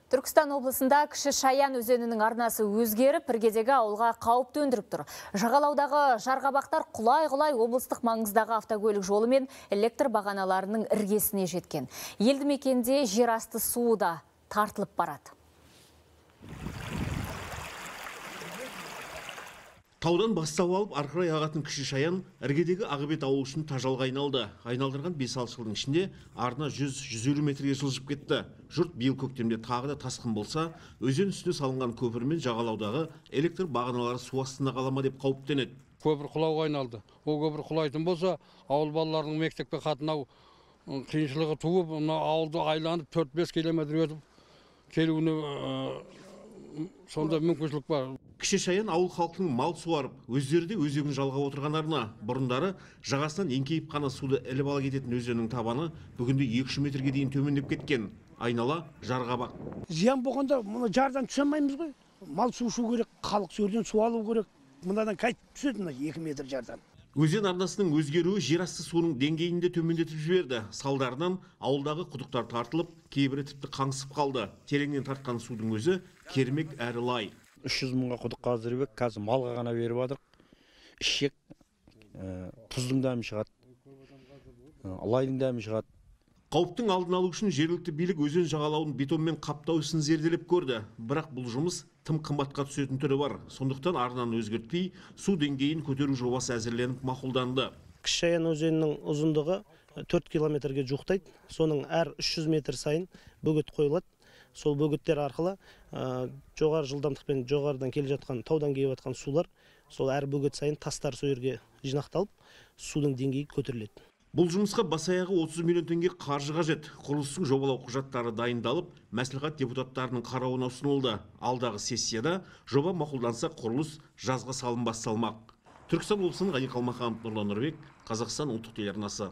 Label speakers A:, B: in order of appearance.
A: Түркістан облысында Кіші Шаян өзенінің арнасы өзгеріп, іргедегі ауылға қауіп төндіріп тұр. Жағалаудағы жарғабақтар құлай-құлай облыстық маңыздағы автокөлік жолы мен электр бағаналарының іргесіне жеткен. Елді мекенде жер асты суы да тартылып барады.
B: Таудан бастау алып, арқырай ағатын Кіші Шаян іргедегі Ағыбет ауылы үшін тажалға айналды. Айналдырған 5-6 жылдың ішінде арна 100-150 метрге жылжып кетті. Жұрт биыл көктемде тағы да тасқын болса, өзен үстіне салынған көпір мен жағалаудағы электр бағаналары су астында қала ма деп қауіптенеді.
C: Көпір құлауға айналды. Ол көпір құлайтын болса, ауыл балаларының мектепке қатынау қиыншылығы туып, ауылды айланып 4-5 километр өтіп келуіне сонда мүмкіншілік бар.
B: Кіші Шаян ауыл халқының мал суарып, өздері де өзегін жалғап отырған арна. Бұрындары жағасынан еңкейіп қана суды іліп ала кететін өзеннің табаны бүгінде 200 метрге дейін төмендеп кеткен. Айнала жарғабақ.
D: Зиян болғанда мұны жардан түсе алмаймыз ғой. Мал су ішу керек, халық сөрден су алу керек. Мынадан қайтып түседі 2 метр жардан.
B: Өзен арнасының өзгеруі жер асты суының деңгейінде төмендетіп жіберді. Салдарынан ауылдағы құдықтар тартылып, кейбірі тіпті қаңсып қалды. Тереңнен тартқан судың өзі кермек әрі лай.
E: 300 мыңға құдық қаздырып, қазір малға ғана беріп жатыр. Ішек, тұздың дәмі шығады, лайдың дәмі шығады.
B: Қауіптің алдын алу үшін жергілікті билік өзен жағалауын бетонмен қаптау ісін зерделеп көрді. Бірақ бұл жұмыс тым қымбатқа түсетін түрі бар. Сондықтан арнаны өзгертпей, су деңгейін көтеру жобасы әзірленіп мақұлданды.
F: Кіші Шаян өзенінің ұзындығы 4 километрге жуықтайды. Соның әр 300 метр сайын бөгет қойылады. Сол бөгеттер арқылы жоғары жылдамдықпен жоғарыдан келе жатқан, таудан келіп жатқан сулар, сол әр бөгет сайын тастар сол жерге жинақталып, судың деңгейі көтеріледі.
B: Бұл жұмысқа бас-аяғы 30 миллион теңге қаржы қажет. Құрылыстың жобалау құжаттары дайындалып, мәслихат депутаттарының қарауына ұсынылды. Алдағы сессияда жоба мақұлданса, құрылыс жазға салым басталмақ. Түркістан облысының Ғани Қалмаханов, Нұрлан Нұрбек, Қазақстан ұлттық телеарнасы.